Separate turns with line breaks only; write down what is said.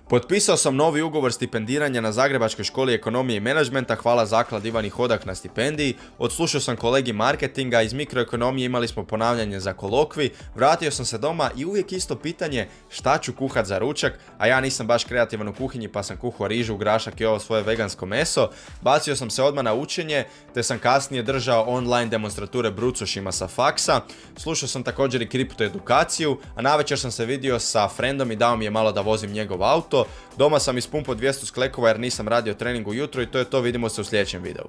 Potpisao sam novi ugovor stipendiranja na Zagrebačkoj školi ekonomije i menadžmenta, hvala zakladi Ivani Hodak na stipendiji. Odslušao sam kolegi marketinga, iz mikroekonomije imali smo ponavljanje za kolokvi, vratio sam se doma i uvijek isto pitanje šta ću kuhat za ručak, a ja nisam baš kreativan u kuhinji pa sam kuhao rižu, grašak i ovo svoje vegansko meso. Bacio sam se odmah na učenje, te sam kasnije držao online demonstrature brucošima sa faksa. Slušao sam također i kripto edukaciju, a navečer sam se vidio sa frendom i dao mi je malo da vozim njegov auto. Doma sam ispumpao 200 sklekova jer nisam radio trening ujutro i to je to, vidimo se u sljedećem videu.